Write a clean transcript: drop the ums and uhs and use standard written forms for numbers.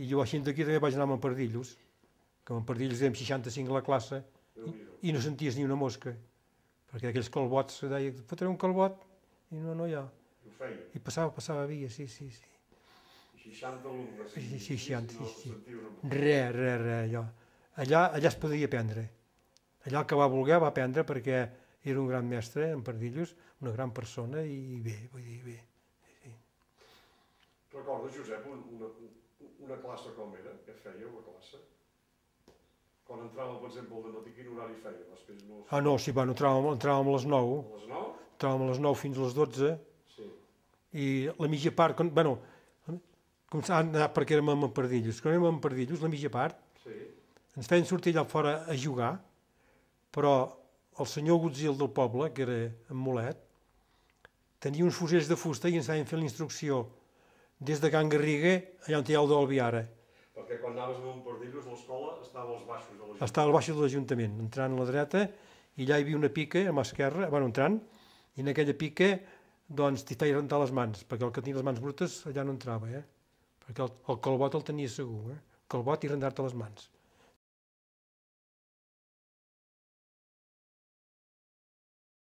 I jo així d'aquí també vaig anar a Montpardillos, que a Montpardillos érem 65 a la classe i no senties ni una mosca, perquè aquells calbots se deia, fotré un calbot, i no hi ha. I passava via, sí. 60 alumnes. 60, sí. Res, allà es podia aprendre. Allà el que va voler va aprendre perquè era un gran mestre, en Pardillos, una gran persona i bé, vull dir, bé. Sí. Recordes, Josep, una classe com era? Què fèieu, la classe? Quan entràvem, per exemple, al dematí, quin horari fèieu? No, sí, bueno, entràvem a les 9. A les 9? Entràvem a les 9 fins a les 12. Sí. I la mitja part, bueno, començàvem a anar perquè érem a Pardillos. Quan érem a Pardillos, la mitja part, ens feien sortir allà fora a jugar, però el senyor Gutzil del poble, que era en Molet, tenia uns fusells de fusta i ens feien fer la instrucció des de Can Garriga, allà on hi ha el d'Albiara. Perquè quan anaves a Montpardillos, l'escola estava als baixos de l'Ajuntament. Estava als baixos de l'Ajuntament, entrant a la dreta, i allà hi havia una pica a mà esquerra, bueno, entrant, i en aquella pica doncs t'hi feia rentar les mans, perquè el que tenia les mans brutes allà no entrava, perquè el calbot el tenia segur, calbot i rentar-te les mans.